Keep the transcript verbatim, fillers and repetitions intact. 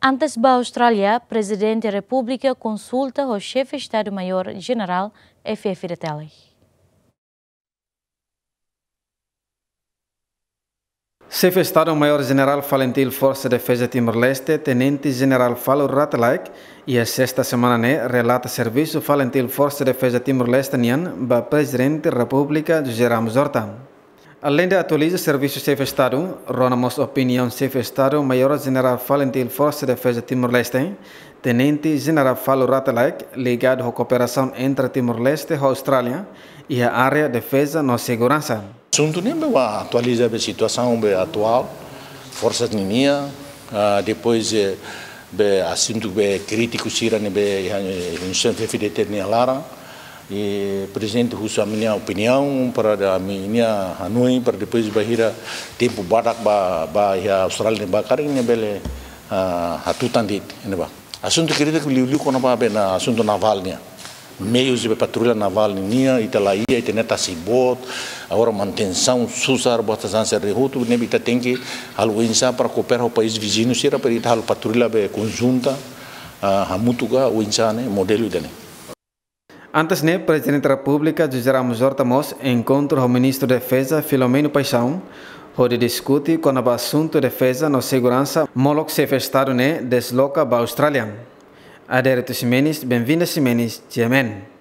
Antes ba Austrália, Prezidente Repúblika konsulta ho Xefe Estadu Maiór Jenerál F F D T L. Xefe Estadu Maiór Jenerál FALINTIL Forsa Defeza Timor-Leste, Tenente Jenerál Falur Rate Laek, iha sesta semana ne'e relata servisu FALINTIL Forsa Defeza Timor-Leste nian ba Prezidente Repúblika José Ramos Horta. Aleinde atualiza servisu Xefe Estadu, rona mós opiniaun Xefe Estadu Maiór Jenerál FALINTIL Forsa Defeza Timor-Leste, Tenente Jenerál Falur Rate Laek, ligadu ho kooperasaun entre Timor-Leste ho Austrália, iha área defeza no seguransa. Asuntu ne'e ba atualiza ba situasaun ba atuál, forsa ninian, ah, depois, eh, ba asuntu ba krítiku sira ne'ebé, eh, instituisaun F F D T nia laran, i Prezidente husu ami-nia opiniaun, para da ami-nia hanoin, para depois bainhira tempu badak ba, ba iha Austrália ne'e ba karik ne'e bele, ah, hatutan de'it, ne'e ba. Asuntu krítiku liuliu kona-ba be na asuntu navál nian. Meius ba patrulla navál nian, ita laiha, ita-nia tasi boot, agora manutensaun susar, buat hanesan ne'e hotu, ne'ebé ita tenke halo oinsá para koopera ho país viziñu sira, para ita halo patrulla be konjunta, ah, hamutuk ka oinsá ne'e, modelu ida-ne'e. Antes ne'e, Prezidente Repúblika José Ramos Horta mós enkontru ho Ministru Defeza Filomeno Paixão, hodi diskute kona-ba asuntu defeza no seguransa molok Xefe Estadu ne'e desloka ba Austrália. Adérito Ximenes, Benvinda Ximenes, G M N.